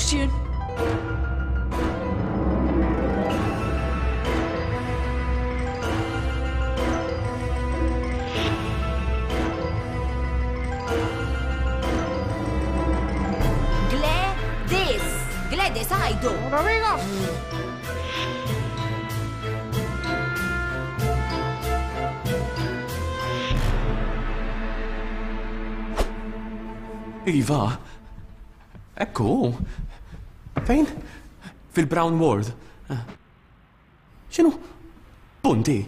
nafx jien. Gladys! Gladys, għajdu! Iva, ekku. Fejn? Fil-Brown Ward. X'inhu? Punti?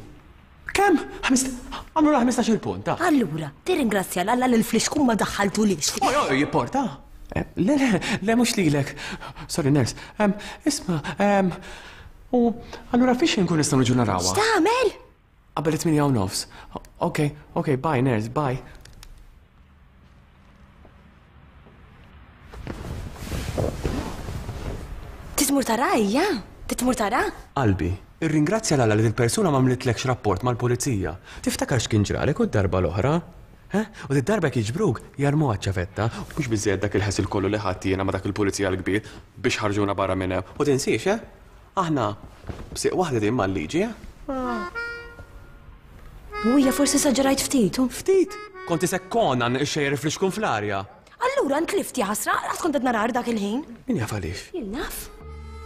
Kemm? Għamlu la 15 il-punt, ta. Allura, tirringrazzja l-Alla li l-flixkun ma daħħaltulix. Oj, oj, jipporta. Eh, le, le, le, mhux lilek. Sorry, nurse. Isma, u allura fiex inkun nistgħu niġu narawha? X'tagħmel? Qabel it-8 u nofs. Ok, ok, bye, nurse, bye. Titmur tara hija? Titmur tara? Qalbi, irringrazzja 'l Alla li dil-persuna m'għamlitlekx rapport mal-pulizija. Tiftakar x'kien ġralek u d-darba l-oħra? Eh? U did-darba jekk jiġbruk, jarmuha ċ-ċavetta. Mhux biżżejjed dak il-ħasil kollu li ħadt jiena ma' dak il-pulizija l-kbir biex ħarġuna barra minn hemm. U tinsiex, eh? Aħna b'sieq waħda din mal-liġi, eh? U hija forsi esaġerajt ftit, u? Ftit? Kont isek Conan ixxejjer il-flixkun fl-arja. Allura ntlift jaħasra, qatt kont qed narar dak il-ħin. Min jaf għaliex? Jien naf.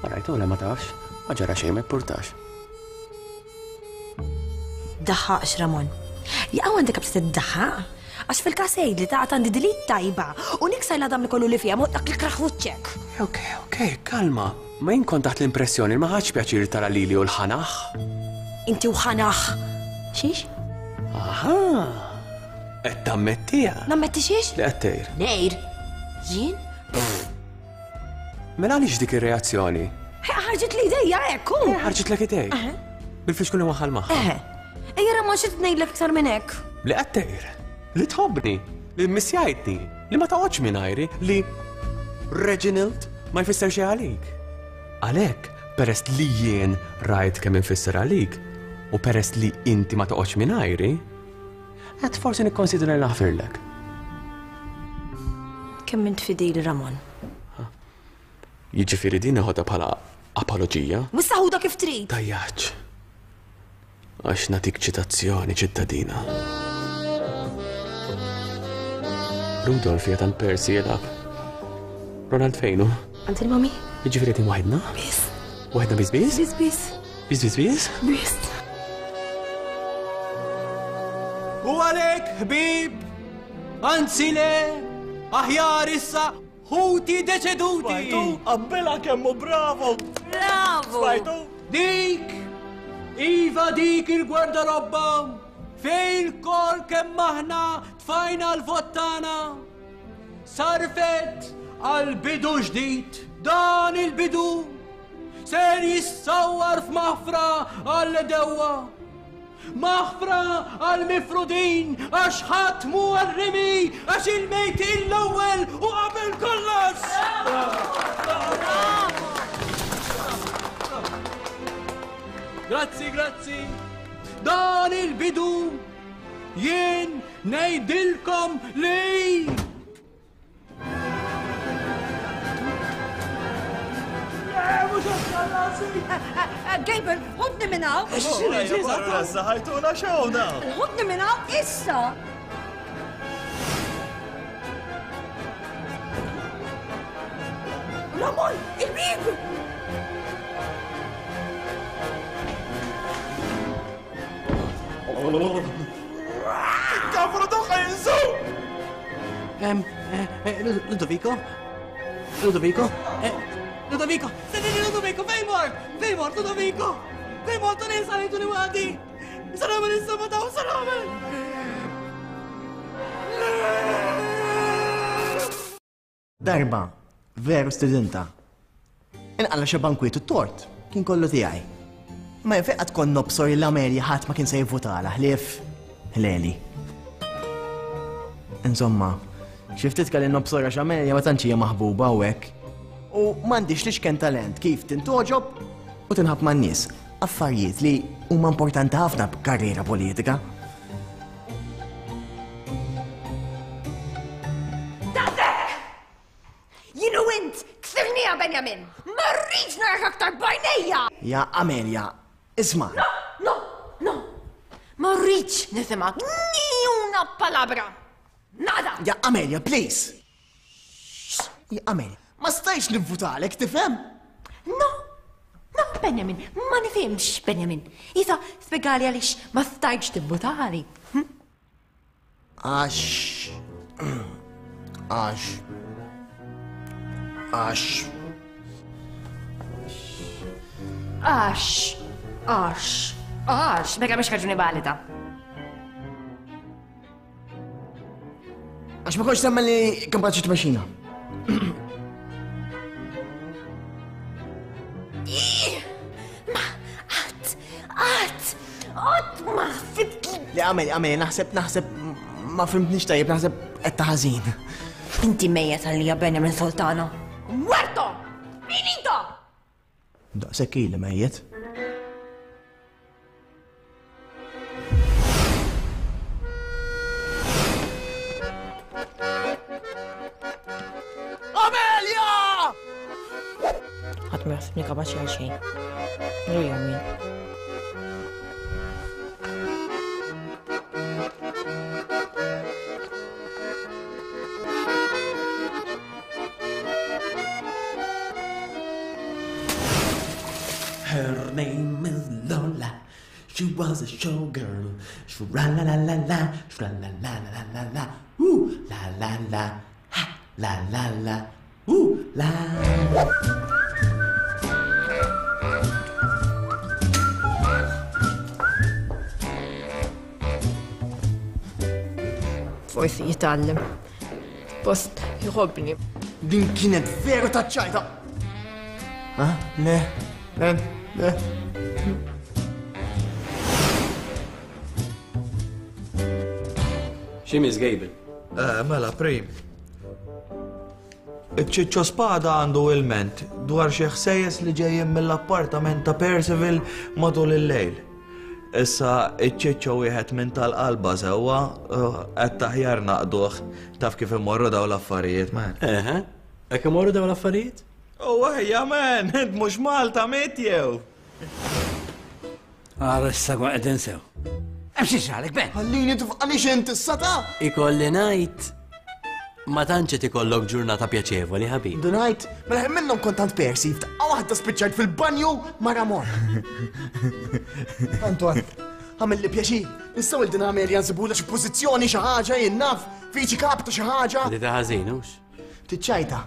Ma rajtu le ma tafx, ma ġara xejn ma jippurtax. Daħħaqx Ramon. Jaqaw għandek abs tiddaħħaq? Għax fil-każ għidli ta' għandi dilitt tajba u niksar l-għadam li kollu li fiha mod dak l-ikrah wiċċek. Ok, ok, kalma. Ma jien kont taħt l-impressjoni li ma ħadx pjaċir tara lili u l-ħanaħ. Inti u ħanaħ. Xiex? Aha! Qed tammettiha. Nammetti xiex? Li qed tgħir. Ngħir? Jien? Mela għaliex dik ir-reazzjoni? Ħarġit li idejja hekk hu. Ħarġitlek idejk. Bil-flixkun li waħħal magħha. Eħe. Ejja Ramon xi tnejlek iktar minn hekk. Li qed tgħir. Li tħobbni. Li mmissjajtni. Li ma toqgħodx mingħajri. Li Reginald ma jfisser xejn għalik. Għalhekk, peress li jien rajt kemm infisser għalik, u peress li inti ma toqgħodx mingħajri, qed forsi nikkonsidra li naħfirlek. Kemm int fidili, Ramon. Jiġifieri din neħodha bħala apoloġija? Wissa ħudha kif trid. Tajjaċ. Għax nagħtik ċitazzjoni, ċittadina. Rudolf qiegħed għand Percy jilgħab. Ronald fejn hu? Għand il-mami. Jiġifieri qegħdin waħedna? Biss. Waħedna biss biss? Biss biss. Biss biss biss? Biss. U għalhekk, ħbieb, anzi le, aħjar issa Ħuti deċeduti! Smajtu? Qabbilha kemm hu bravo! Bravo! Smajtu? Dik! Iva dik il-gwardarobba! Fejn kol kemm aħna tfajna l-vot tagħna! Sarfet għal bidu ġdid. Dan il-bidu ser jissawwar f'maħfra għall-edewwa. Maħfra għall-mifrudin għax ħadd mhu għar-rimi għax il-mejtin l-ewwel u qabel kollox! Grazzi, grazzi. Dan il-bidu jien ngħidilkom li Gabriel, ħudni minn hawn! Ħajtuna xewna! Ħudni minn hawn issa! Ramon, il-bib! Kafru doħħa jinżu! Ludovico? Ludovico? Ludovico! Sentini Ludovico, fejn mort? Fejn mort Ludovico? Fejn mort u nisa li tuni għadi? Saramel insomma daw, saramel! Darba, veru stidinta. Inqalla xi bankwiet u t-tort kien kollu tiegħi. Imma jien fejn qatt kont nobsor li l-Amelia ħadd ma kien se jivvutalha ħlief ħleli. Insomma, xi ftit kelli nobsor għax Amelia ma tantx hija maħbuba u hekk. U m'għandix l-iċken talent kif tintgħoġob u tinħabb man-nies, affarijiet li huma importanti ħafna b'karriera politika. Daqshekk! Jien u int ksirniha bejnietna! Benjamin! Ma rridx narak aktar b'għajnejja! Ja Amelia, isma'. No, no, no! Ma rridx nisimgħek ni una palabra! Nada! Ja Amelia, please! Ja Amelia, ma stajtx nivvutalek, tifhem? No, no, Benjamin, ma nifhimx, Benjamin. Isa, spjegali għaliex ma stajtx tivvutali. Hm? Għax. Għax. Għax. Għax. Għax. Għax. Mela mhix raġuni valida. Għax ma kontx nemmen li kapaċi tmexxina. Ma qatt, qatt, qatt ma ħsibt li. Le għamel, għamel, naħseb, naħseb, ma fimtnix tajjeb, naħseb qed ta' ħażin. Inti mejjet għalija Benjamin Sultana. Muerto! Finito! Daqshekk ili mejjet. Amelia! Ħadd ma jaħsibni kapaċi għal xejn. Lu jew min. Her name is Lola. She was a showgirl. Shra la la la la, shra la la la la la, ooh la la la, ha la la la, ooh la. Forsi jitgħallem. Post jħobbni. Din kienet veru taċ-ċajta. Ha? Le, le, le. Xi Miss Gable? Eh, mela, prim. Iċ-Ċiċċo Spada għandu ilment dwar xi ħsejjes li ġejjin mill-appartament ta' Percival matul il-lejl. Issa iċ-Ċiċċo wieħed minn tal-qalba sewwa, għedt aħjar naqduh, taf kif imorru dawn l-affarijiet, man. Eħe, hekk imorru dawn l-affarijiet? U ejja, man, int mhux Malta mitt jew? Ara issa kont qed insew. Hemm xi ġralek, Ben? Ħallini tifqanix int issa ta'! Ikolli ngħid ma tantx qed ikollok ġurnata pjaċevoli, ħabib. Ndunajt, mela ħin minnhom kont tant Percy, f'daqqa waħda spiċċajt fil-banju ma' Ramon. Anton, għamilli pjaċir, nistgħu il din Amelia nsibulha xi pożizzjoni xi ħaġa jien naf, viċi kap ta' xi ħaġa. Li ta' ħażin, hux? Tiċċajta.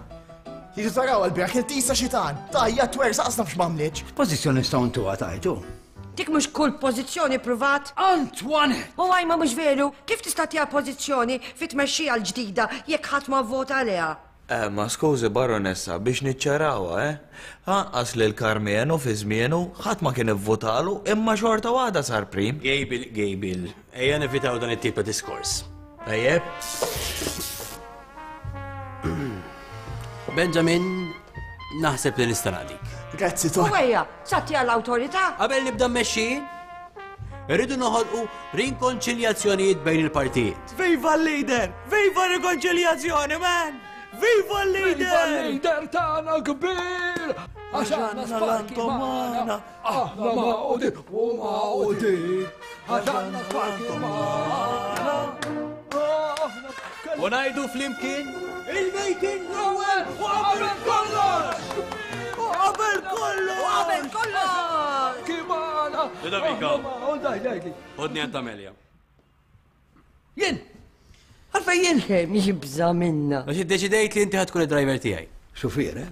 Jiġu taraw għal-beraħ kien tisa xitan, tajja twer saqs nafx m'għamlitx. X'pożizzjoni nistgħu ntuha tajtu? Dik mhux kull pożizzjoni pruvat. Antoinette! U għaj ma mhux veru, kif tista' tagħtiha pożizzjoni fit-tmexxija l-ġdida jekk ħadd ma vvota għaliha? Eh, ma skużi Baronessa, biex niċċarawha, eh? Anqas lil Karmenu fi żmienu ħadd ma kien ivvutalu imma xorta waħda sar prim. Gejbil, Gejbil, ejja nevitaw dan it-tip ta' diskors. Tajjeb? Benjamin, naħseb li nista' naqdik. Grazzi, Ton. U ejja, satti għall-awtorità. Qabel nibda mmexxi, irridu noħolqu rinkonċiljazzjonijiet bejn il-partijiet. Viva l-leader! Viva rikonċiljazzjoni, man! Viva l-leader! Viva l-leader tagħna kbir! Għax għandna sparki magħna, aħna magħqudin u magħqudin. Għax għandna sparki magħna. U ngħidu flimkien il-mejtin l-ewwel u qabel kollox! U qabel kollox! U qabel kollox! Kimana! Ludovico. Ħodni għand Amelia. Jien! Għalfejn jien? Kemm jibża' minna. Għax iddeċidejt li inti ħa tkun id-driver tiegħi. Xufier, eh?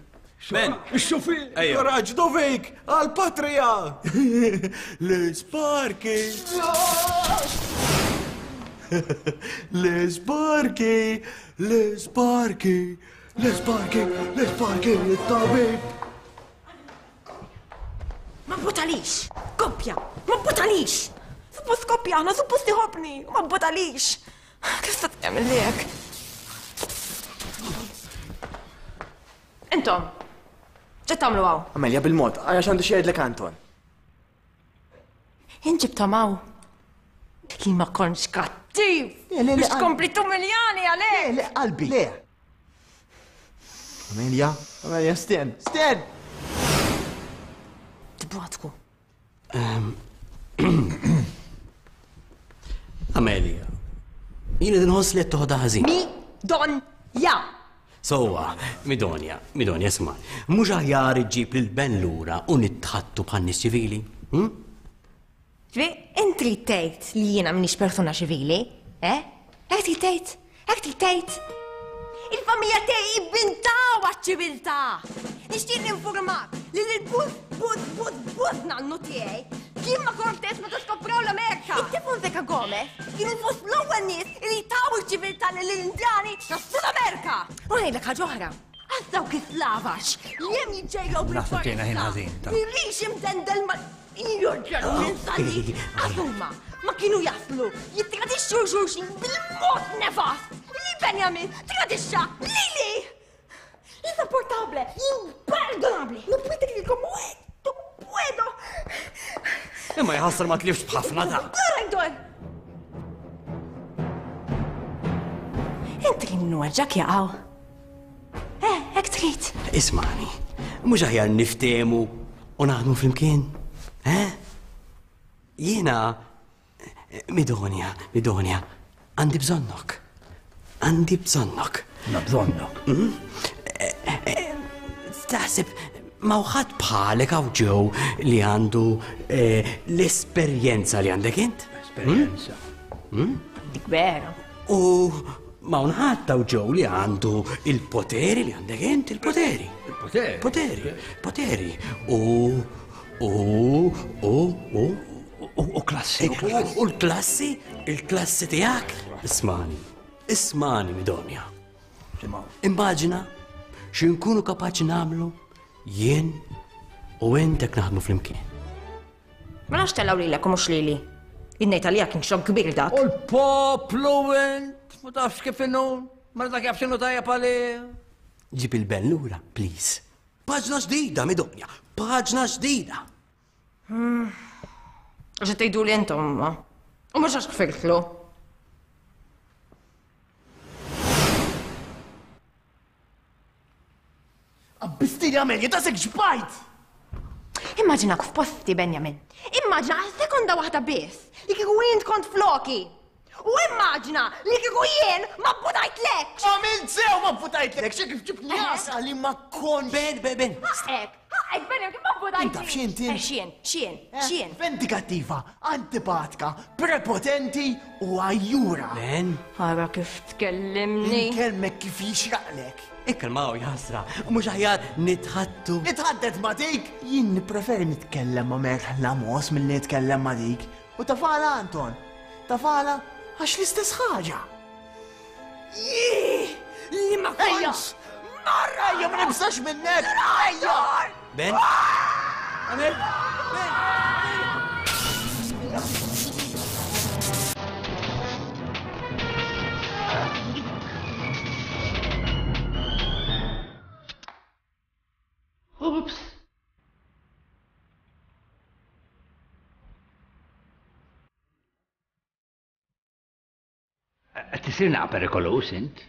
Ben! Ix-xufier! Ejja. Kuraġġ Dovik! Għall-patrija! L-isparki! L-isparki! L-isparki! L-isparki! L-isparki! It-tabib! Ma bbutalix! Koppja! Ma bbutalix! Suppost koppja aħna, suppost iħobbni! Ma bbutalix! Kif se tagħmel li hekk? Intom, ġed tagħmlu hawn? Amelia bil-mod, ara x'għandu xi jgħidlek Anton. Jien ġibthom hawn. Li ma kontx kattiv! Le, le, le, Biex tkompli tumiljani għalek! Le, le, qalbi. Le. Amelia, Amelia, sten, sten! Tibgħatku. Ehm, Amelia, jien qed inħoss li qed toħodha ħażin. Mi don ja. Sowa, Midonja, Midonja, isma' mhux aħjar iġġib lil Ben lura u nitħattu bħal nies ċivili? Hm? Ġifieri, int trid tgħid li jiena m'iniex persuna ċivili, eh? Hekk trid tgħid? Hekk trid tgħid? Il-familja tiegħi ivvintaw għaċ-ċiviltà! Nixtieq ninfurmak li l-bus bus bus bus nannu tiegħi kien ma' Cortés meta skopraw l-Amerika. It-Fonseca Gomez kienu fost l-ewwel nies li taw iċ-ċiviltà lill-Indjani ta' Sud Amerika. U ngħidlek ħaġa oħra. Għax dawk is-slavax li hemm jiġġejjew Naħseb ġejna ħin ħażin. Mirix imdendel ma' Jorġan minn sali, għazuma, ma kienu jaslu, jittradixxu xulxin bil-mod nefast li Benjamin tradixxa lili! Insopportable, imperdonable, no puedo creer como esto, puedo! Imma jħassar ma tlifx b'ħafna ta' Dor! Inti li nweġġak jaqaw. Eh, hekk trid. Ismani, mhux aħjar niftehmu u naħdmu flimkien? Eh? Jiena Midonja, Midonja, għandi bżonnok. Għandi bżonnok. Na bżonnok. Mm? Eh, eh, taħseb ma uħad bħalek għaw ġew li għandu eh, l-esperjenza li għandek int? Esperjenza. Mm? Dik vera. U Ma hawn ħadd hawn ġew li għandu il-poteri li għandek int, il-poteri. Il-poteri. Poteri, poteri. U, u, u, u, u klassi. U l-klassi, il-klassi tiegħek. Ismani, ismani Midonja. Immaġina x'inkunu kapaċi nagħmlu jien u int hekk naħdmu flimkien. Ma nafx tellgħu lilek u mhux lili. Jien ngħid għalija kien xokk kbir dak. U l-poplu int, ma tafx kif inhu, ma dak jaf x'inhu tajjeb għalih. Ġib il-ben lura, please. Paġna ġdida, Midonja, paġna ġdida. Hmm. Għax qed tgħiduli intom ma. U mhux għax kfirtlu. Abbistili Amelia, ta' sek ġbajt! Immaġinak f'posti, Benjamin. Immaġina għal sekonda waħda biss li kieku int kont floki. U immaġina li kieku jien ma bbutajtlekx! Għamilt sew ma bbutajtlekx, kif ġibtni għasa li ma kontx. Ben, ben, ben. Ħaqek, ħaqek, Benjamin, kif ma bbutajtlekx? Taf x'int int? Eh, x'jien, x'jien, x'jien. Vendikattiva, antipatika, prepotenti u għajjura. Ben? Ara kif tkellimni. Inkellmek kif jixraqlek. Ikkalmaw jaħsra, mhux aħjar nitħattu. Nitħaddet ma' dik? Jien nippreferi nitkellem ma' Merħla Mos milli nitkellem ma' dik. U tafala Anton, tafala għax l-istess ħaġa. Jih! Li ma kontx! Marra! Ejja, ma nibżax minnek! Ejja! Ben? Amel? Ben? Oops! Qed tisir naqa' perikoluż int.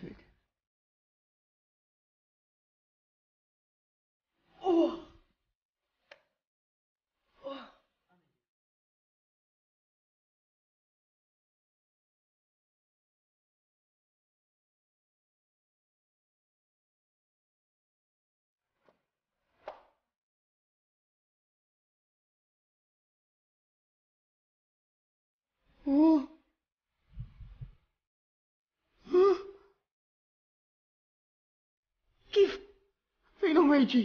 Kif? Fejn hu ħwejġi?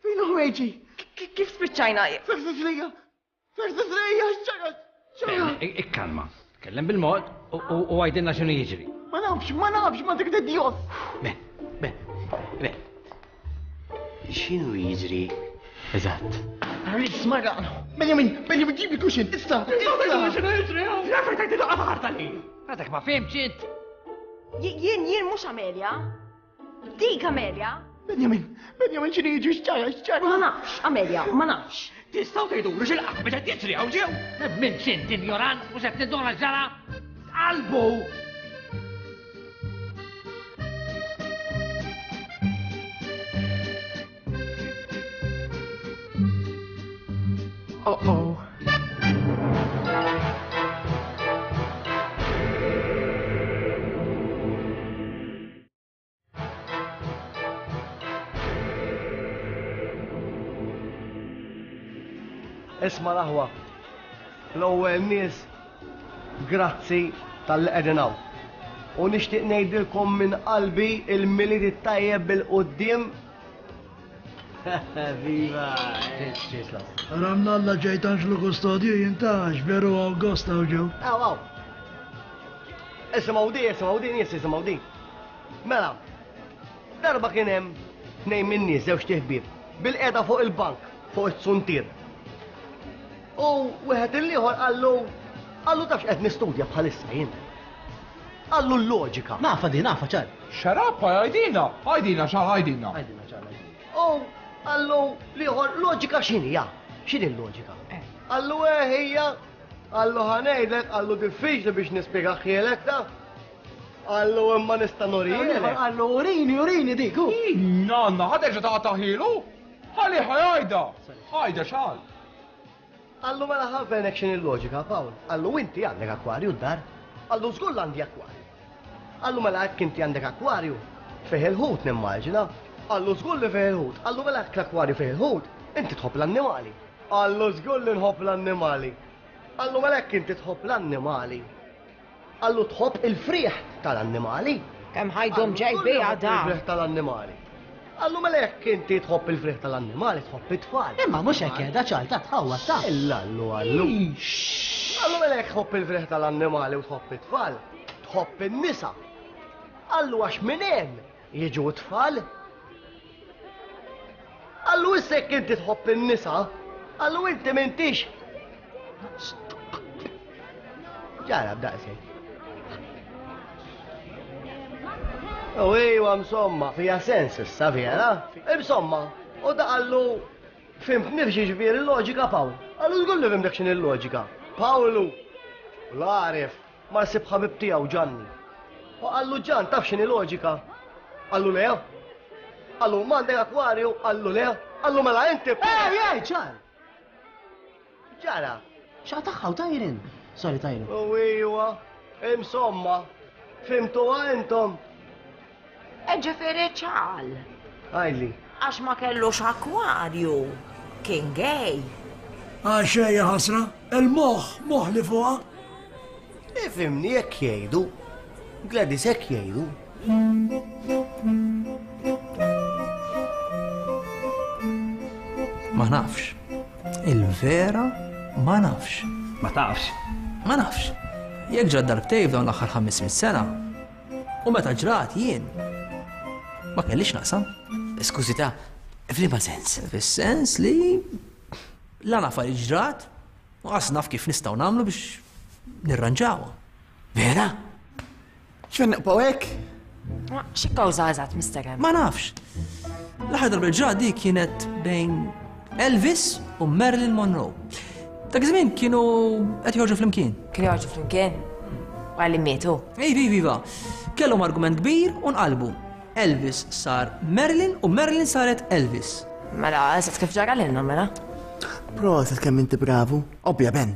Fejn hu ħwejġi? Kif spiċċajna? Fersa Srejja! Fersa Srejja! X'ġara? X'ġara? Ikkalma. Tkellem bil-mod u għajdilna x'inhu jiġri. Ma nafx, ma nafx, ma dik Dios! Ben, ben, ben. X'inhu jiġri eżatt? Rrid marra. Benjamin, Benjamin ġib il-kuxin, issa! Issa! X'inhu jiġri? Għalfejn tajt daqqa ta' ħarta li? Għadek ma fhimtx int. Jien, jien mhux Amelia. Dik Amelia. Benjamin, Benjamin x'inhu jiġri x'ġara, x'ġara? Ma nafx, Amelia, ma nafx. Tistgħu tgħidulu x'il-qatt meta jiġri hawn ġew? Minn x'int injorant mhux qed tinduna x'ġara? Qalbu! Oh oh. Isma' l-aħwa, l-ewwel nies grazzi talli qegħdin hawn. U nixtieq ngħidilkom minn qalbi il-Milied it-tajjeb bil-quddiem. Viva! Ramnalla ġejt Anġlu Kustodju jintax veru hawn gost hawn ġew. Aw, aw. Isimgħu di, isimgħu di, nies isimgħu di. Mela, darba kien hemm tnejn min-nies żewġ ħbieb bil-qiegħda fuq il-bank fuq it-suntier. U wieħed il-ieħor qallu qallu tafx qed nistudja bħalissa jien. Qallu l-loġika. Nafa di, nafa ċar. Xarabba, għajdina, għajdina ċar, għajdina. Għajdina ċar, għajdina. U qallu l-ieħor loġika x'inhi, ja? X'inhi l-loġika? Eh. Qallu eh hija, qallu ħanejdlek, qallu diffiċli biex nispjegahielek ta' Qallu imma nista' nurihielek. Qallu urini, urini dik. Nanna, ħa terġa' taqtagħhielu? Ħalli ħajda. Ħajda xal. Qallu mela ħavenek x'inhi l-loġika, Pawl. Qallu inti għandek akwarju d-dar. Qallu żgur għandi akwarju. Qallu mela hekk inti għandek akwarju. Fih il-ħut nimmaġina. Qallu żgur li fih il-ħut. Qallu mela hekk l-akwarju fih il-ħut, inti tħobb l-annimali. Qallu żgur li nħobb l-annimali. Qallu mela hekk inti tħobb l-annimali. Qallu tħobb il-frieħ tal-annimali? Kemm ħajdum ġej biha da. Il-frieħ tal-annimali. Qallu mela jekk inti tħobb il-frieħ tal-annimali tħobb it-tfal. Imma mhux hekk qiegħda ċar ta' tħawwad ta'. Illallu qallu. Qallu mela jekk tħobb il-frieħ tal-annimali u tħobb it-tfal, tħobb in-nisa. Qallu għax minn hemm jiġu t-tfal. Qallu issa jekk inti tħobb in-nisa, qallu inti m'intix. Ġara b'daqshekk. U ejwa insomma, fija sens issa vera. Insomma, u da qallu fimt nifxi ġifieri l-loġika Pawl. Qallu żgur li fimtek x'inhi l-loġika. Pawlu, l-għaref, Mar sib ħabib tiegħu Ġanni. U qallu Ġann taf x'inhi loġika? Qallu le. Qallu m'għandek akwarju? Qallu le. Qallu mela inti. Ej, ej, ċar! Ġara. X'għataħħa u tajrin? Sorry, tajrin. U iwa, insomma, fimtuha intom. Ġifieri ċal. Għidli. Għax ma kellux akwarju, kien gay. Għax hija ħasra, il-moħħ moħli fuqha. Ifhimni hekk jgħidu. Gladys hekk jgħidu. Ma nafx. Il-vera ma nafx. Ma tafx? Ma nafx. Jekk ġrat darbtejn f'dawn l-aħħar 500 sena, U meta ġrat jien ma kellix naqsam. Skużi ta' f'liema sens? Fis-sens li la naf għaliex ġrat u qas naf kif nistgħu nagħmlu biex nirranġawha. Vera? X'fejn nibqgħu hekk? Xi kawża eżatt, Mr. M? Ma nafx. L-aħħar darba ġrat di kienet bejn Elvis u Marilyn Monroe. Dak iż-żmien kienu qed joħorġu flimkien. Kienu joħorġu flimkien? Wara li mietu? Iva, iva, iva. Kellhom argument kbir u nqalbu. Elvis sar Marilyn u Marilyn saret Elvis. Mela, eżatt kif ġara lilna mela. Proset kemm inti bravu. Obbja Ben.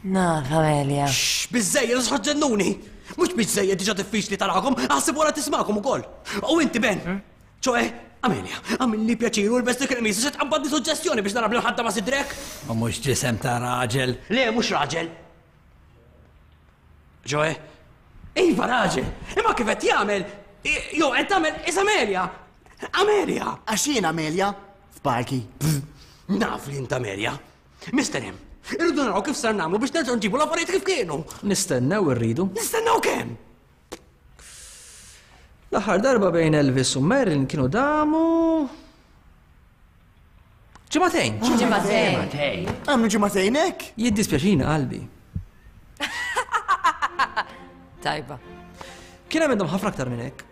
Naf, Amelia. Xx, biżżejjed, għax ġennuni! Mhux biżżejjed diġà diffiċli tarakom, aħseb wara tismagħkom ukoll. U inti Ben, hmm? Ċoe, Amelia, għamilli pjaċir u l-bes dik il-qmis se tqabbadni suġġestjoni biex nara bl-ħadda ma' sidrek. U mhux ġisem ta' raġel. Le, mhux raġel. Ġoe, iva raġel, imma kif qed jagħmel, jew qed tagħmel is Amelia. Amelia! Għax jien Amelia, f'parki. Naf li int Amelia. Mister M, irridu naraw kif sar nagħmlu biex nerġgħu nġibu l-affarijiet kif kienu. Nistennew irridu. Nistennew kemm? L-aħħar darba bejn Elvis u Marilyn kienu damu ġimagħtejn. Ġimagħtejn. Għamlu ġimagħtejn hekk? Jiddispjaċina qalbi. Tajba. Kien hemm minnhom ħafna aktar minn hekk.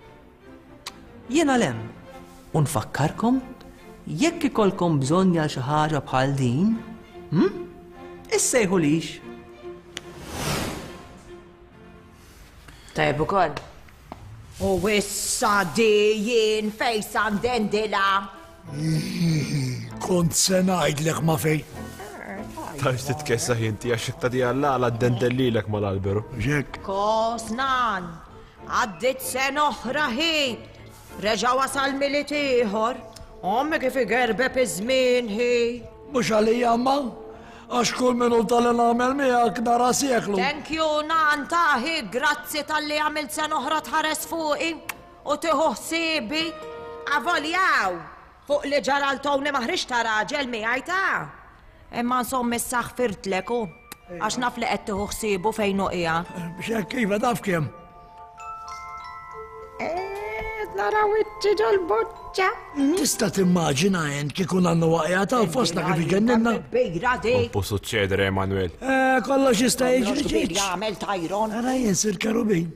Jiena lem u nfakkarkom jekk ikollkom bżonn għal xi ħaġa bħal din, hm? Issejħulix. Tajjeb ukoll. U issa di jien fejn sa ndendilha? Kont se ngħidlek ma fejn. Tafx titkessaħ inti għax jekk tagħtiha l-għala ddendellilek mal-alberu. Hekk. Kos nan, għaddiet sena oħra hi. Reġa' wasal Milied ieħor. Ommi kif igerbeb iż-żmien hi. Mhux għalija ma, għax kull minuta li nagħmel miegħek nara seklu. Thank you nan ta' hi, grazzi talli għamilt sena oħra tħares fuqi u tieħu ħsiebi. Avoljaw, fuq li ġara l Tony ma ħriġt ta' raġel miegħi ta'. Imma insomma issa ħfirtlek u għax naf li qed tieħu ħsiebu fejn hu qiegħed. Biex hekk iva taf kemm. Qed nara wiċċi ġol-boċċa. Tista' timmaġina int kieku nannu waqja ta' fostna kif iġenninna? Kbira dik. Pompu suċċedere, Emanuel. Eh, kollox jista' jiġri ġiġ. Jagħmel Tyron. Ara jien sir kerubin.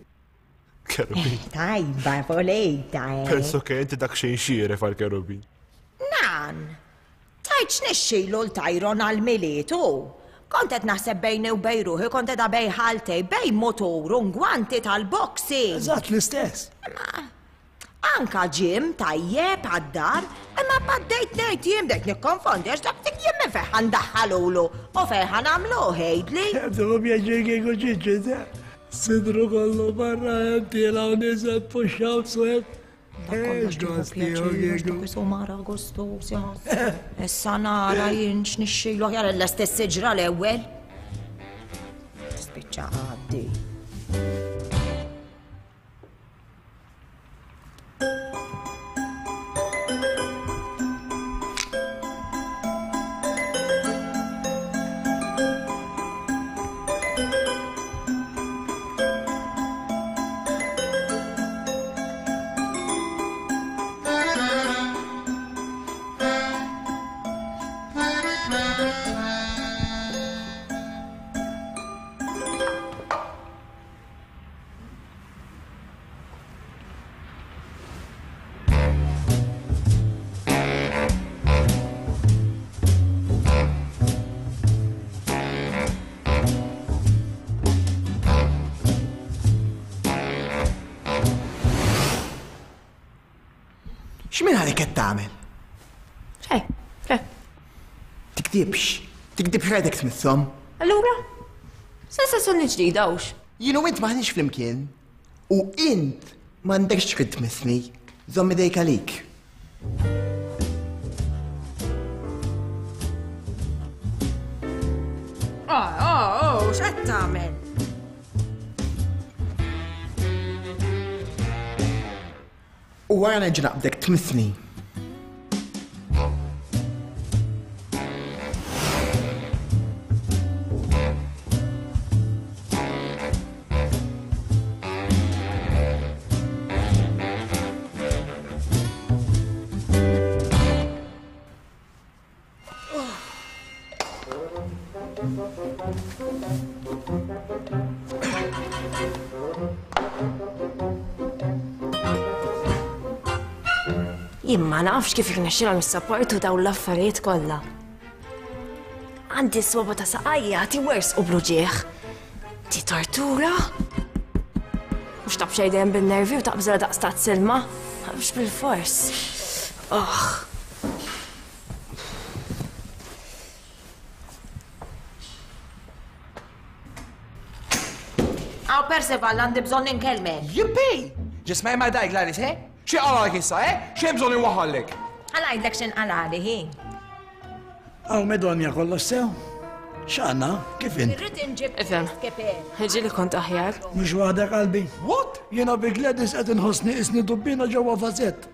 Kerubin. Tajba, volejta. Eh. Penso che inti dak xejn xieref għal kerubin. Nan, Tgħid x'nixxilu 'l Tyron għall-Milied hu? Kont qed naħseb bejni u bejn ruħi kont qiegħda bejn ħaltej, bejn mutur u ngwanti tal-boxing. Eżatt l-istess. Imma anka gym tajjeb għad-dar, imma mbagħad bdejt ngħid jien bdejt nikkonfondi għax dak dik jien minn fejn ħa ndaħħalulu u fejn ħa nagħmluh għidli. Tieħu pjaċir kieku ċiċi, sidru kollu barra hemm tiela' u niżel push ups u hekk. Issa nara jien x'nixxilu aħjar l-istess siġra l-ewwel. Spiċċa għaddi. X'minn għalik qed tagħmel? Xejn, xejn. Tikdibx, tikdibx rajtek tmisshom. Allura? Sensazzjoni ġdida hux. Jien u int maħniex flimkien. U int m'għandekx trid tmissni. Żomm idejk għalik. Oh, oh, oh, x'qed tagħmel? U wara nerġa' naqbdek tmissni. Jien ma nafx kif irnexxilhom jissapportu dawn l-affarijiet kollha. Għandi s-swaba ta' saqajja tiwers u bluġieħ. Ti tortura? Mhux taf xejn dejjem bin-nervi u taqbżilha daqs tazz ilma? Mhux bilfors. Oh. Aw Percival, għandi bżonn inkellmek. Yippee! Ġisma ma dajk Gladys, eh? Xi qalgħalek issa, eh? X'hemm bżonn inwaħħallek? Ħa ngħidlek x'inqalali, hi. Aw Medonja kollox sew? X'għandna? Kif int? Irrid inġib Ifhem. Ġieli kont aħjar. Mhux waħdek qalbi. What? Jiena bi Gladys qed inħossni qisni dubbina ġewwa vażett.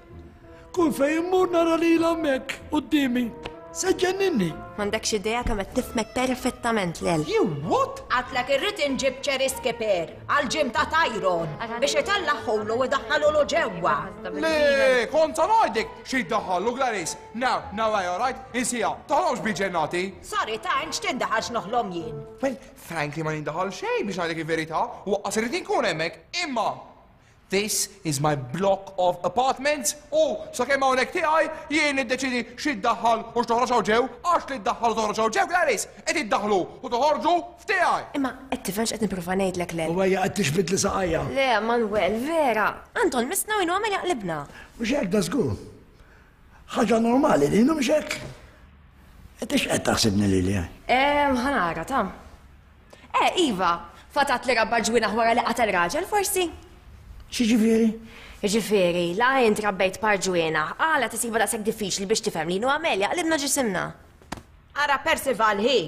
Kull fejn immur nara lilha hemmhekk quddiemi. Se ġġenninni. M'għandekx idea kemm qed nifhmek perfettament, Lel. You what? Għadtlek irrid inġib cherry skipper għall-gym ta' Tyrone biex itellagħhulu u idaħħalulu ġewwa. Le, kont sa ngħidlek xi jdaħħallu Gladys. Now, now I all right, insiha, toħlomx bi ġennati. Sorry ta' int x'tindaħal x'noħlom jien. Well, frankly ma nindaħal xejn biex ngħidlek il-verità, u waqqas irrid inkun hemmhekk, imma This is my block of apartments u sakemm hawnhekk tiegħi jien niddeċiedi xi ddaħħal u x'toħroġ hawn ġew, għax li ddaħħal u toħroġ hawn ġew Gladys, qed iddaħħlu u toħorġu f'tiegħi. Imma qed tifhem x'qed nipprova ngħidlek Len? U ejja qed tixbidli saqajja. Le, Manuel, vera. Anton missna u jien u Amelia qlibna. Mhux hekk da żgur. Ħaġa normali din, mhux hekk? Inti x'qed taħsibni lili? Eh, ħa nara, ta. Eh, iva, fatat li rabba ġwienaħ wara li qatel raġel, forsi? X'jiġifieri? Jiġifieri, la int rabbejt par ġwienaħ, għala tisibha daqshekk diffiċli biex tifhem li jien u Amelia qlibna ġisimna? Ara Percival hi,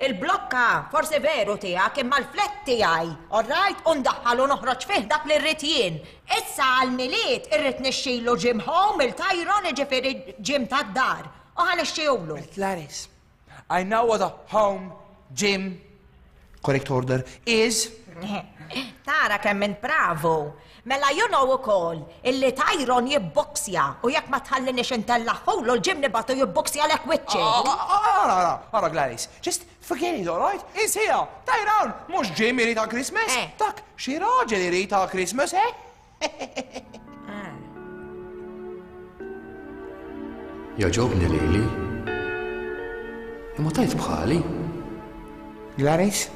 il-blokka forsi veru tiegħek imma l-flat tiegħi, all right, u ndaħħal u noħroġ fih dak li rrid jien. Issa għall-Milied irrid nixtrilu gym home il-Tyron jiġifieri gym tad-dar u ħa nixtrihulu. Gladys, I know what a home gym, correct order, is. Tara kemm int bravu. Mela you know ukoll illi Tyron jibboksja u jekk ma tħallinix intellagħhulu l-gym nibgħatu jibboksjalek wiċċek. Ara, ara, ara Gladys, just forget it, all right? Insiha, Tyron, mhux gym irid għal Christmas, dak xi raġel irid għal Christmas, eh? Jogħġobni lili. Imma tajt bħali. Gladys?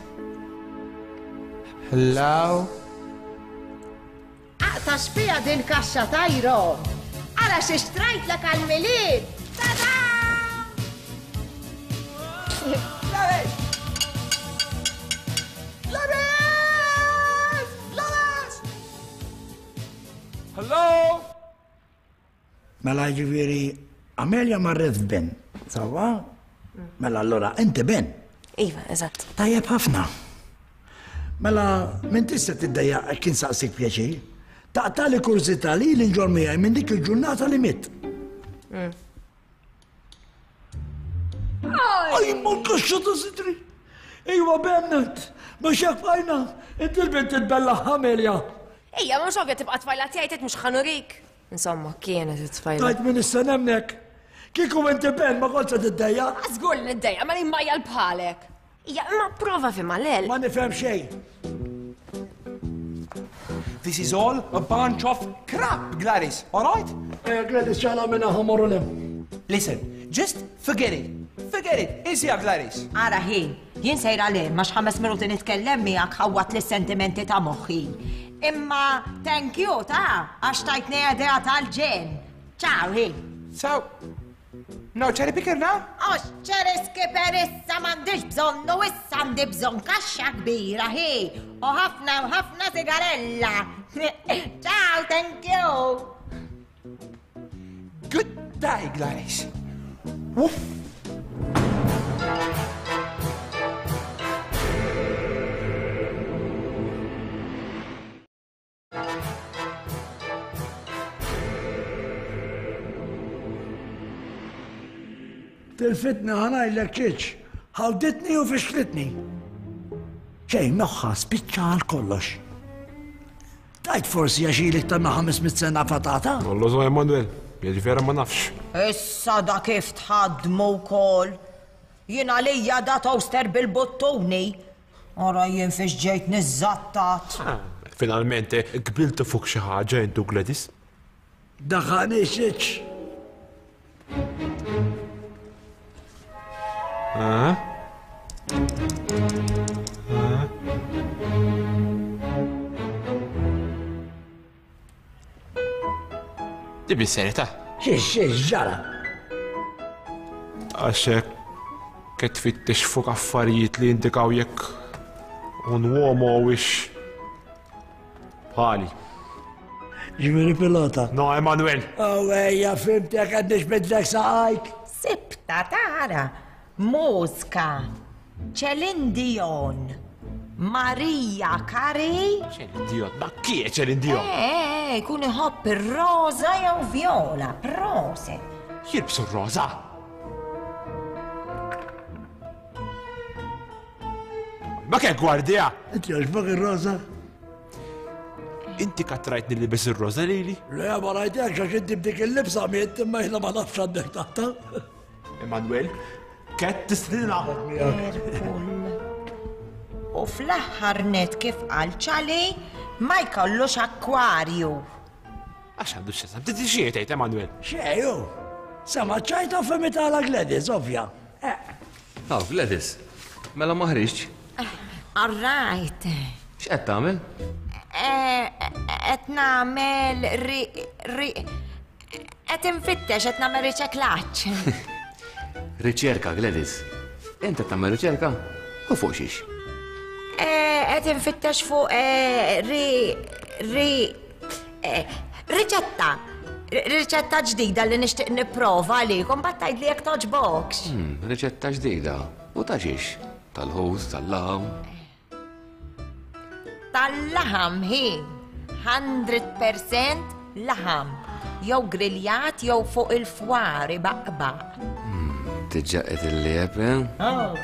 Hello? Aqta' x'fiha din kaxxa Tyron! Ara xi xtrajtlek għall-Milied! Tada! Gladys! Gladys! Gladys! Hello? Mela jiġifieri Amelia marret f'Ben, sewwa? Mela allura inti Ben. Iva, eżatt. Tajjeb ħafna. Mela m'intix se tiddejjaq hekk insaqsik pjaċir. Taqtali kurżità li ili nġorr miegħi minn dik il-ġurnata li mitt. Aj, ma kaxxa ta' sidri! Iwa Bennett, mhux hekk bqajna, inti l-bint titbellaħ Amelia. Ejja, mhux ovvja tibqa' tfajla tiegħi tgħid mhux ħanurik. Insomma, kienet it-tfajla. Tajt minn issa nemnek. Kieku inti Ben ma kont se tiddejja. Żgur li niddejja, ma li majjal bħalek. Ija, imma prova fi malel. Ma nifhem xejn. This is all a bunch of crap, Gladys, all right? Eh, Gladys, ċala minna ħamorru lem. Listen, just forget it. Forget it. Insiha, Gladys. Ara ħi, jien sejra le, ma x'ħames minuti nitkellem miegħek ħawwat lis-sentimenti ta' moħħi. Imma thank you ta' għax tajtni idea tal-ġen. Ciao, ħi. So, No cherry picker now? Għax cherry skipper issa m'għandix bżonnu issa għandi bżonn kaxxa kbira hi u ħafna u ħafna sigarella. Ciao, thank you. Good day, Gladys. Woof. Tilfitni ħa ngħidlek ċiċ, ħawditni u fixklitni. Xejn moħħha spiċċa għal kollox. Tajt forsi għax ili iktar minn 500 sena fatata? Non lo so Emanuel, jiġi vera ma nafx. Issa da kif tħaddmu wkoll. Jien għalija da toaster bil-buttuni. Ara jien fiex ġejt niżżattat. Finalmente qbiltu fuq xi ħaġa int u Gladys. Daħħani xiċ. Ah? Ah? Di bis-serjetà. Xiex, xiex, ġara? Għax hekk qed tfittex fuq affarijiet li jindikaw jekk un uomo huwiex bħali. Ġifieri pilota. No, Emanuel. Oh, ejja, fimtek qed nixbidlek saqajk. Sibta tara, mużka. Celine Dion, Maria Carey. Celine Dion, ma chi è Celine Dion? Eh, eh, jkun iħobb ir-roża jew vjola, proset. Jilbsu r-roża? Ma che gwardja? Inti għaxbok ir-roża? Inti katrajtni li bis ir-roża lili? Le, ma rajtekx għax inti b'dik il-libsa miet imma jiena ma nafx għandek taħta. Emanuel, Ket tistrina. U fl-aħħar net kif qal ċali ma jkollux akkwarju. Għax għandu x'jasab, titi xie tgħid Emanuel. Xejju, sama ċajta femi tala Gladys, ovvja. Eh. Aw, Gladys, mela ma ħriġtx. All right. X'qed tagħmel? Eh, qed nagħmel ri ri Qed infittex qed nagħmel riċeklaġġ. Riċerka, Gladys. Int qed tagħmel riċerka? U fuq xiex? Eh, qed infittex fuq eh, ri ri eh, riċetta. Riċetta ġdida li nixtieq nipprova għalikom bat tgħidli jekk toġbokx. Hmm, riċetta ġdida. U ta' xiex? Tal-ħus, tal-laħam? Tal-laħam hi 100% laħam. Jew griljat jew fuq il-fwar ibaqbaq. Hmm, Tiġġa qed il-lieb, eh? Oh.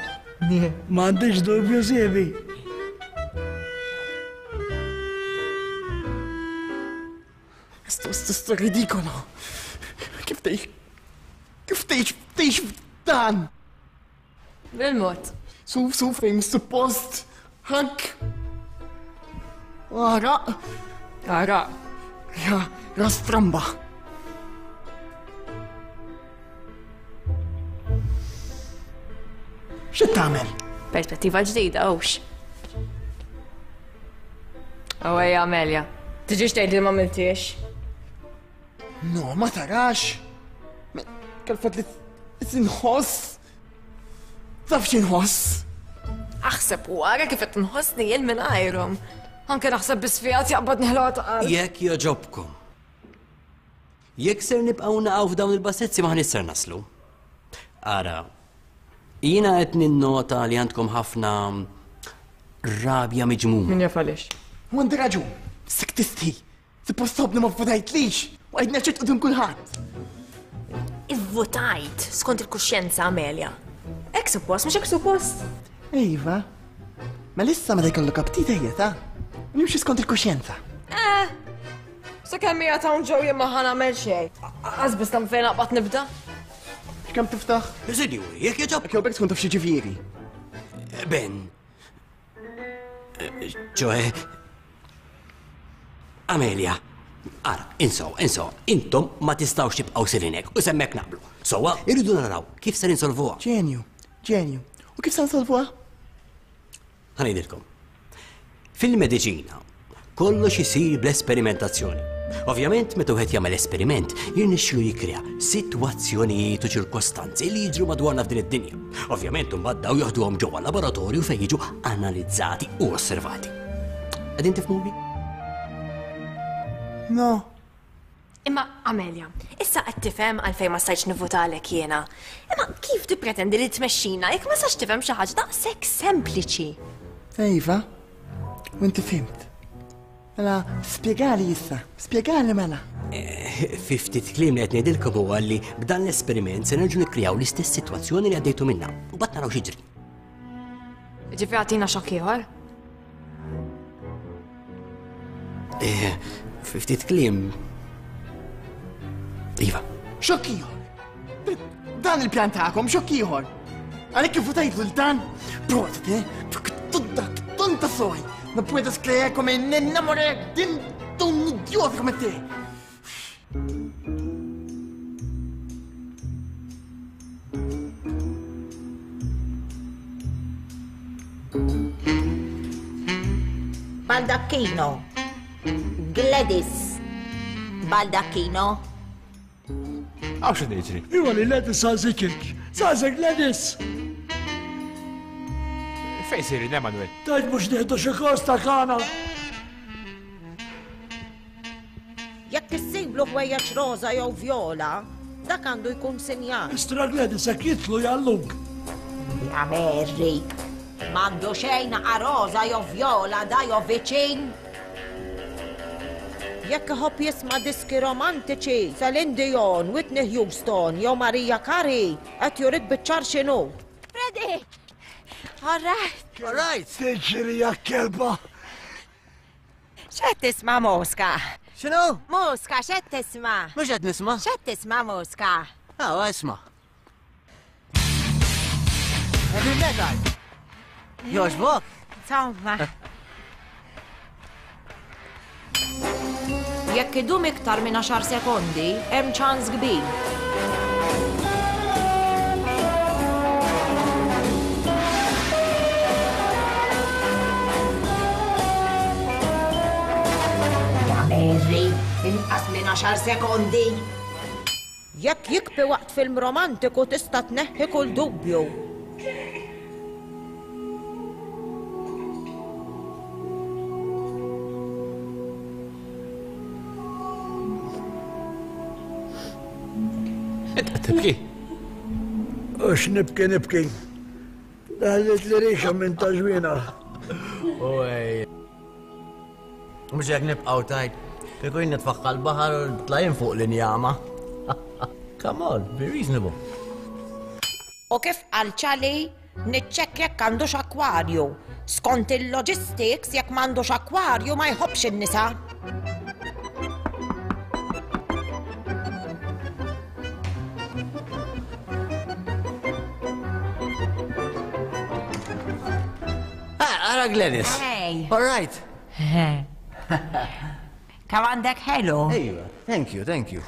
M'għandix dubju siebi. Esto, esto, esto ridicolo. Kif tgħix? Kif tgħix? Tgħix f'dan? Bil-mod. Suf, suf fejn suppost. Ħakk. Għaraq. Għaraq. Ja, rastramba. X'qed tagħmel? Perspettiva ġdida, hux. Awej, Amelia. Tiġix tgħid li ma miltiex. No, ma tarax. Kalfat li tinħoss. Taf x'inħoss? Aħseb u ara kif qed nħossni jien minn għajrhom. Anke naħseb biss fiha jaqbad neħlota ta' qalb. Jekk jogħġobkom. Jekk ser nibqgħu naqgħu f'dawn il-bassezzi ma ser naslu. Ara, jiena qed ninnota li għandkom ħafna rabja miġmuma. Min jaf għaliex. U għandi raġun, sik tistħi. Suppost tobni ma vvutajtlix u għidna ċert qudiem kulħadd. Ivvutajt skont il-kuxjenza Amelia. Hekk suppost, mhux hekk suppost? Iva. Ma lissa meta jkollok aptit ejja ta' nimxi skont il-kuxjenza. Eh, sakemm hija ta' ġew jien ma ħa nagħmel xejn. Qas biss tam fejn aqbad nibda. X'kemm tiftaħ? Sinjuri, jekk jogħġob. Jekk tkun taf xi ġifieri. Ben, ċoħe, Amelia, ara, insow, insow, intom ma tistawx tibqaw sirinek u semmek naqblu. Sowa, irridu naraw kif ser insolvuha. Ġenju, ġenju. U kif se nsolvuha? Ħa ngħidilkom. Fil-mediċina, kollox isir bl-esperimentazzjoni. Ovvjament, meta wieħed jagħmel esperiment, jirnexxilu jikkrea sitwazzjonijiet u ċirkostanzi li jiġru madwarna f'din id-dinja. Ovvjament, imbagħad daw joħduhom ġewwa laboratorju fejn jiġu analizzati u osservati. Qegħdin tifhmuni? No. Imma Amelia, issa qed tifhem għalfejn ma stajtx nivvutalek jiena. Imma kif tippretendi li tmexxina jekk ma sax tifhem xi ħaġa daqshekk sempliċi? Iva, u inti fhimt. Mela, spjegali issa, spjegali mela. Eh, fi ftit kliem li qed ngħidilkom huwa li b'dan l-esperiment se nerġgħu nikkrijaw l-istess sitwazzjoni li għaddejtu minnha. U bat naraw x'jiġri. Ġifieri għatina xokk ieħor? Eh, fi ftit kliem. Iva. Xokk ieħor. Dan il-pjan tagħkom xokk ieħor. Għalhekk kif votajt lil dan, prosit, eh? Tonta, tonta soy. No puedes creer come me enamoré de un idiota come te. Baldacchino. Gladys. Baldacchino. Għaw x'qed jiġri? Iwa li Gladys saqsiċik. Saqsek Gladys! Fejn sejrin, Emanuel? Tajt mhux nieħdu xi kors ta' kana. Jekk issiblu ħwejjeġ roża jew vjola, dak għandu jkun sinjal. Istra Gladys hekk jidħlu jgħalluk. Ja Mary, m'għandu xejn naqa' roża jew vjola da jew viċin. Jekk iħobb jisma' diski romantiċi, Celine Dion, Whitney Houston jew Mariah Carey, qed jurik biċ-ċar x'inhu. Freddy! All right. All right. Tiġri ja kelba. X'qed tisma' Mosca? X'inhu? Mosca, x'qed tisma'? Mhux qed nisma'. X'qed tisma' Mosca? Ah, isma'. Heavy metal. Jogħġbok? Insomma. Jekk idum iktar minn għaxar sekondi, hemm ċans kbir. Ja Mary, inqas minn għaxar sekondi. Jekk jikbi waqt film romantiku tista' tneħħi kull dubju. Int qed tibki? Ux nibki nibki. Daħlet li rixa minn ta' ġwina. Oj. Mhux hekk nibqgħu tajt. Kieku jien nitfaħħa l-baħar u tlajn fuq l-injama. Come on, be reasonable. U kif qal Ċali, niċċekkja jekk għandux akkwarju. Skont il-logistics, jekk m'għandux akkwarju ma jħobbx in-nisa. Ah, ara Gladys. Hey. All right. Kemm għandek ħelu? Ejwa, thank you, thank you.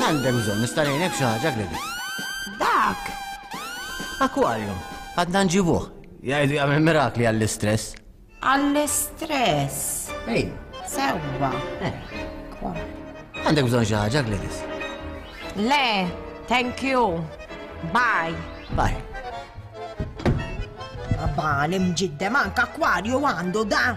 Għandek bżonn nista' ngħinek xi ħaġa Gladys. Dak. Aquarium, għadna nġibuh. Jgħidu jagħmel mirakli għall-istress. Għall-istress. Ej. Sewwa. Eh. Għandek bżonn xi ħaġa Gladys? Le, thank you. Bye. Bye. Bali mġiddem anka akwarju għandu da.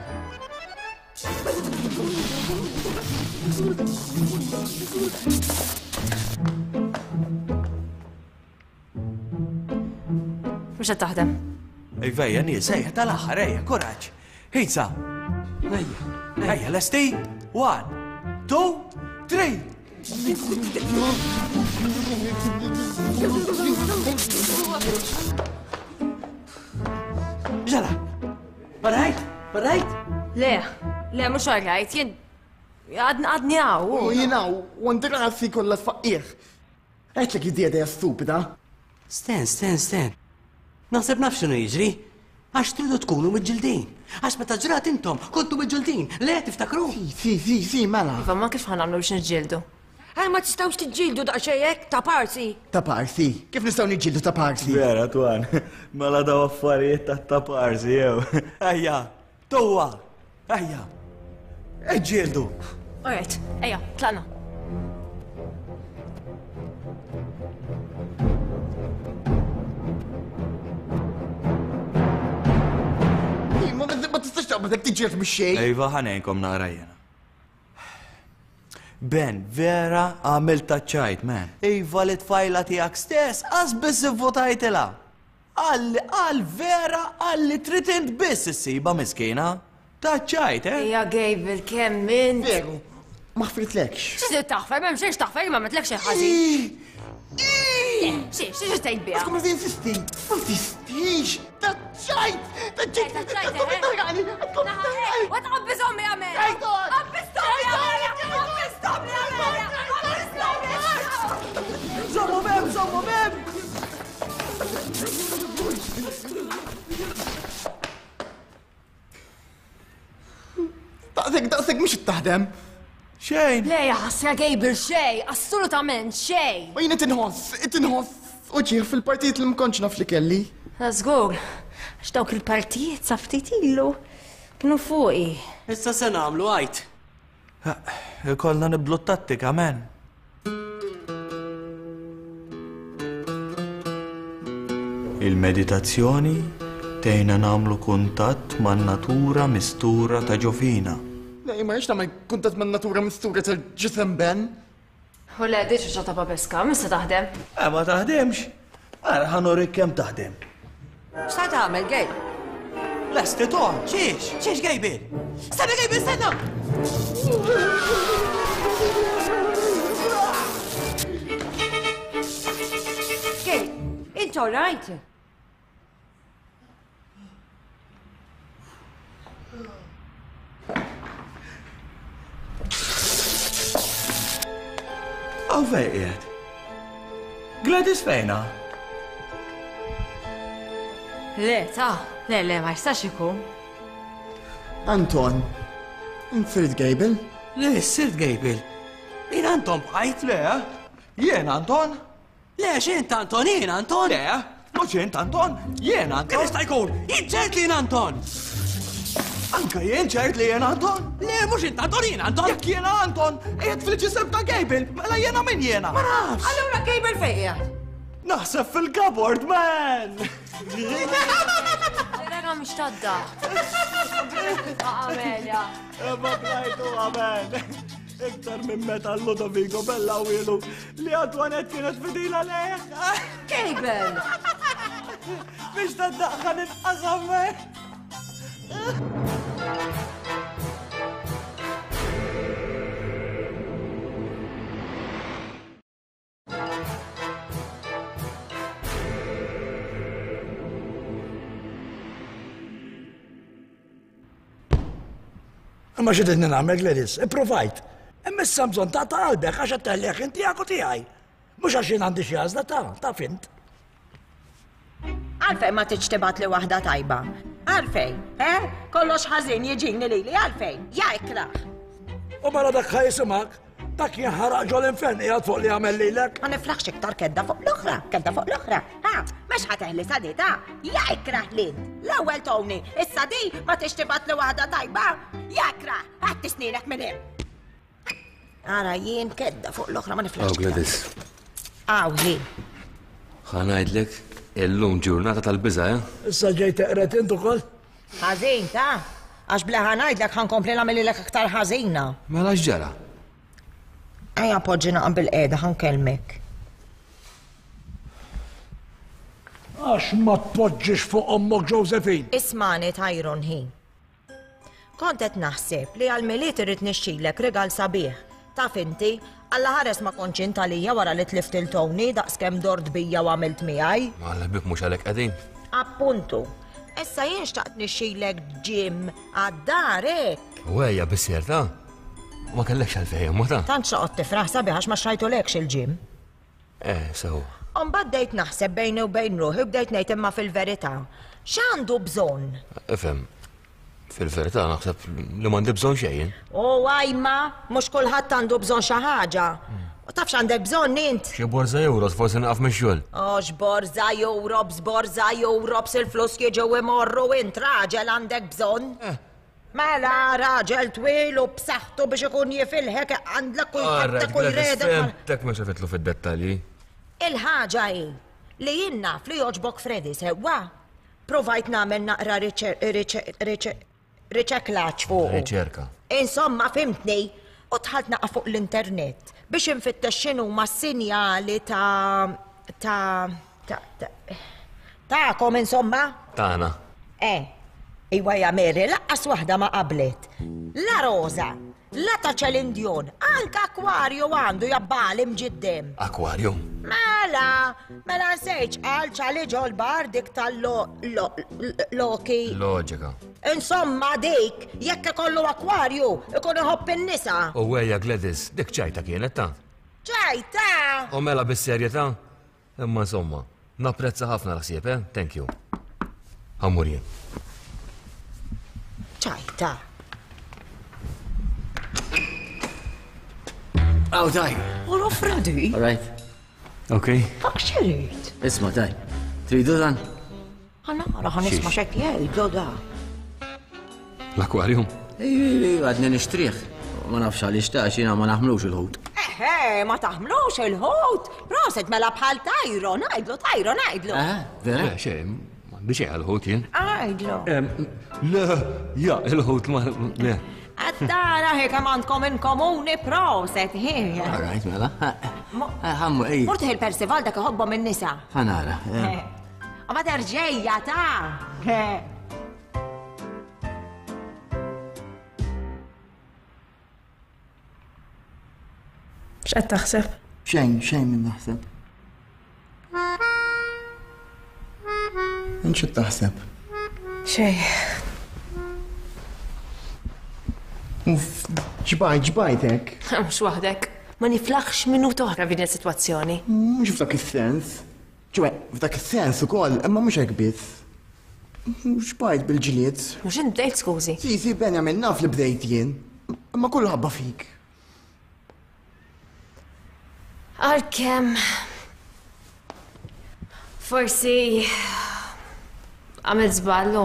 Mhux qed taħdem. Iva, ejja nies, ejja tal-aħħar, ejja, kuraġġ. Ħiza. Ejja, ejja, lesti? One, two, three. Ġara, all right? All right? Le, le, mhux all right, jien għadni hawn. U jien hawn, u għandi rasi kollha tfaqqih. Għedtlek id idea stupida. Sten, sten, sten. Naħseb naf x'inhu jiġri. Għax tridu tkunu miġġildin. Għax meta ġrat intom kontu miġġildin. Le, tiftakru? Si, si, si, mela. Iva, ma kif ħa nagħmlu biex niġġieldu? Għaj ma tistgħux tiġġieldu daqsxejn hekk ta' parsi. Ta' parsi? Kif nistgħu niġġieldu ta' parsi? Vera, Twan. Mela daw affarijiet ta' ta' parsi, jew. Ejja, tuwa! Ejja! Iġġieldu! Alright, ejja, tlaqna. Ma tistax taqbad hekk tiġġieled mix-xejn. Iva, ħa ngħinkom naqra jiena. Ben, vera għamilt taċ-ċajt, man. Iva li tfajla tiegħek stess, qas biss ivvotajtilha. Għal għal vera għal li trid int biss issibha miskina. Taċ-ċajt, eh? Ejja Gable, kemm int. Veru, ma ħfritlekx. Xi trid taħfer, m'hemm xejn x'taħfer, ma għamiltlek xejn ħażin. Xi, xi xi tgħid biha? Tkun insisti, ma tisstix, taċ-ċajt, taċ-ċajt, tkun taħraqni, tkun taħraqni. Wa tqabbiż ommi Amelia! Qabbiż ommi Amelia! Qabbiż ommi Amelia! Qabbiż ommi! Żommu bem, żommu bem! Daqsek, daqsek mhux taħdem. Xejn. Le ja ħasra Gable xejn, assolutament xejn. U jien qed inħoss, qed inħoss uġigħ fil-partijiet li ma kontx naf li kelli. Ta' żgur, għax dawk il-partijiet sa ftit ilu kienu fuqi. Issa se nagħmlu għid. Ikollna nibdlu t-tattika, man. Il-meditazzjoni tgħinna nagħmlu kuntatt man-natura mistura ta' ġo fina. Le, ma rridx nagħmel kuntatt man-natura mistura tal-ġisem Ben. U le, di ċuċa ta' babeska, mhux se taħdem. Eh, ma taħdimx? Ara ħa nurik kemm taħdem. X'ta tagħmel, Gabe? Lesti ton, xiex, xiex Gabe? Stenna Gabe, stenna! Gabe, int all right? Aw fej qiegħed? Gladys fejna? Le, ta, le, le, ma jistax ikun. Anton, int sirt Gable? Le, sirt Gable. Jien Anton bqajt. Le, jien Anton. Le, x'int Anton, jien Anton! Le, mhux int Anton, jien Anton! Kif jista' jkun? Jien ċert li jien Anton! Anka jien ċert li jien Anton? Le, mhux int Anton, jien Anton. Jekk jiena Anton, qiegħed fil-ġisem ta' Gable, mela jiena min jiena? Ma nafx. Allura Gable fejn qiegħed? Naħseb fil-cupboard, man! Vera mhux tadda. Amelia. Imma blajtu, amen. Iktar minn meta Ludovico Bella wielu li Antoinette kienet fidila leħ. Gable! Biex taddaħħa nitqasam, man! Imma xi tridni nagħmel Gladys? Ipprovajt. Imma issa bżonn ta' qalbek għax qed teħlih ħin tiegħek u tiegħi. Mhux għax jien għandi xi għażla ta' taf int. Għalfejn ma tridx tibgħatli waħda tajba? Għalfejn? Eh? Kollox ħażin jiġini lili, għalfejn? Ja ikrah! U mela dak ħa jisimgħek, dak jinħaraq ġol-infern qiegħed fuq li għamel lilek. Ma niflaħx iktar kedda fuq l-oħra, kedda fuq l-oħra. Ha, mhux ħa teħlisha di ta' ja ikrah lil. L-ewwel Tony, issa di ma tridx tibgħatli waħda tajba? Ja ikrah, ħadd snienek minn hemm. Ara jien kedda fuq l-oħra ma niflaħx. Aw Gladys. Aw hi. Ħa ngħidlek illum ġurnata tal-biża', eh? Issa ġej teqred int ukoll? Ħażin, ta? Għax bla ħa ngħidlek ħa nkompli nagħmililek aktar ħażina. Mela x'ġara? Ejja poġġi naqam bil-qiegħda ħa nkellmek. Għax ma tpoġġix fuq ommok Josephine? Ismani Tyron hi. Kont qed naħseb li għall-Milied irrid nixtrilek rigal sabiħ. Taf inti, allaħares ma kontx int għalija wara li tlift 'il Tony daqskemm dort bija u għamilt miegħi. Ma l-ħbieb mhux għalhekk qegħdin. Appuntu. Issa jien xtaqt nixtrilek gym għad-dar hekk. U ejja bis-serta. U ma kellekx għalfejn, imma ta. Tant x'toqgħod tifraħ sabiħ għax ma xtrajtulekx il-gym. Eh, sew. U mbagħad bdejt naħseb bejni u bejn ruħi u bdejt ngħid imma fil-verità, x'għandu bżonn? Ifhem, fil-verità naħseb li m'għandi bżonn xejn jien. U ajma, mhux kulħadd għandu bżonn xi ħaġa. U taf x'għandek bżonn int? Xi borża euros forsi nieqaf mix-xogħol. O x'borża euros, borża euros, il-flus jiġu imorru int raġel għandek bżonn. Eh. Mela raġel twil u b'saħħtu biex ikun jifilħek iqandlek u jħabbtek u jredek. Fhimtek mhux qed nidħlu fid-dettalji. Il-ħaġa hi li jien naf li jogħġbok Freddy sewwa. Provajt nagħmel naqra riċeklaġġ fuqu. Riċerka. Insomma fhimtni u dħalt naqa' fuq l-internet biex infittex x'inhuma s-sinjali ta' ta' ta' tagħkom insomma. Tagħna. Eh. Iwa ja Mary, laqqas waħda ma qablet. La Rosa, la ta' Celine Dion, anka akwarju għandu jabbali mġiddem. Akwarju? Mela, mela nsejċ qal ċali ġol bar dik tal-loki. Loġika. Insomma dik, jekk ikollu akwarju, ikun iħobb in-nisa. U ejja Gladys, dik ċajta kienet ta'. Ċajta? U mela bis-serjetà? Imma insomma, napprezza ħafna l-ħsieb, eh? Thank you. Ħa mmur jien. Ċajta. Aw, daj. Ora Freddy. All right. Ok. Dak xerit. Isma, daj. Tridu dan? Ħanara, ħanisma xek jgħidu da. L-akwarjum? Għadni nixtrih. Ma nafx għaliex ta' xina ma naħmlux il-ħut. Eħe, ma taħmlux il-ħut. Proset mela bħal tajro, ngħidlu tajro, ngħidlu. Eh, vera? Xejn, m'għandi xejn għall-ħut jien. Għidlu. Le, ja, il-ħut ma le. Għaddara hi kemm għandkom in komuni proset, hi. All right, mela. Ħammu, ej. Mort il-Percival dak iħobbhom in-nisa. Ħanara. Ma terġejja ta' X'qed taħseb? Xejn, xejn minn naħseb. Int x'qed taħseb? Xejn. Uff, ġbajt, ġbajt hekk. Mhux waħdek. Ma niflaħx minuta oħra f'din is-sitwazzjoni. Mhux f'dak is-sens. Ċoe, f'dak is-sens ukoll, imma mhux hekk biss. Xbajt bil-ġlied. Mhux int bdejt skużi. Si, si, Benjamin, naf li bdejt jien. Imma kollu ħabba fik. Għalkemm forsi għamilt żball u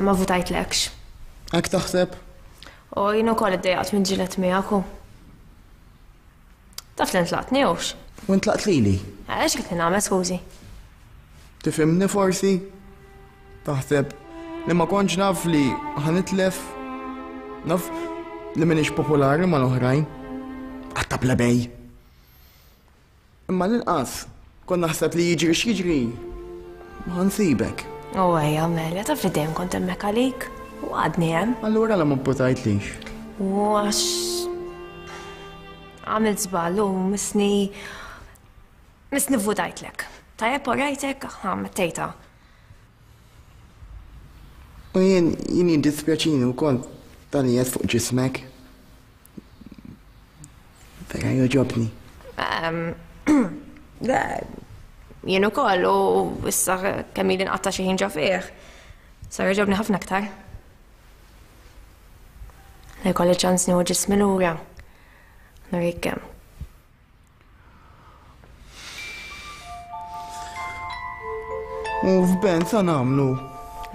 ma votajtlekx. Hekk taħseb? U jien ukoll iddejjaqt minn ġilet miegħek u. Taf li ntlaqtni hux? U ntlaqt lili. Għax kif nagħmel skużi? Tifhimni forsi? Taħseb li ma kontx naf li ħa nitlef? Naf li m'iniex popolari mal-oħrajn. Għatta plebej. Imma l-inqas kont naħseb li jiġri x'jiġri ħa nsibek. U ejja, Amelia, taf li dejjem kont hemmhekk għalik u għadni hemm. Allura la ma pputajtlix? U għax għamilt żball u misni misni vvutajtlek. Tajjeb u rajtek, ħa mettejta. U jien jien jiddispjaċini wkoll tal-li fuq ġismek. Vera joġobni. Jien ukoll u issa kemm ili nqatta' xi ħin ġo fih. Sar joġobni ħafna aktar. La jkolli ċans nieħu ġismi lura. Nurik kemm. U f'Ben sa nagħmlu?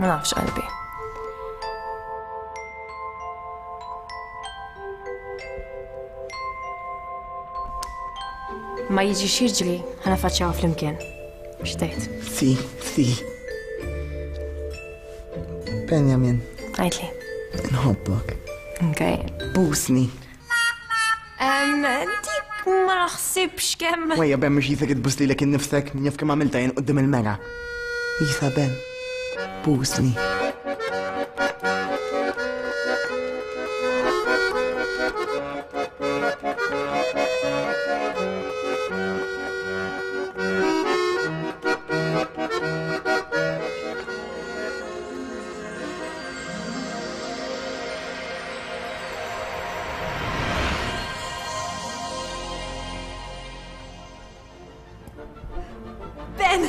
Ma nafx qalbi. Ma jiġi x'jiġri ħa nafaċċjaw flimkien. X'tgħid? Si, si. Benjamin. Għidli. Nħobbok. Okay. Busni. Dik ma naħsibx kemm. Wejja Ben mhux jisek itbus lilek innifsek, min jaf kemm għamilta jien quddiem il-mera. Isa Ben, busni. Ben!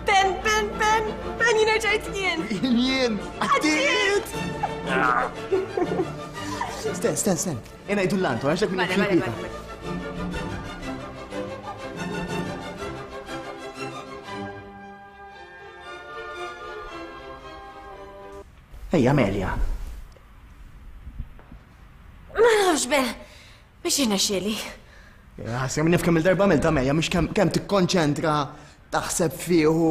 Ben, Ben, Ben! Ben, jien rġajt jien! Jien! Għaddiet! Sten, sten, sten. Jena jdu l-lantu, għaxek minn Mela, mela, mela. Ejja, Amelia. Ma nafx ben, biex jirnexxieli. Ħasra minn kemm il-darba għamilta Amelia, mhux kemm tikkonċentra, taħseb fih u.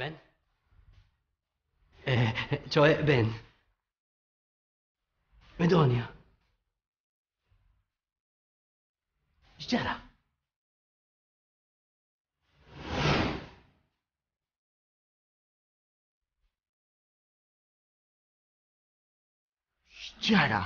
Ben? ċoħe, eh, Ben. Medonia. X'ġara? X'ġara?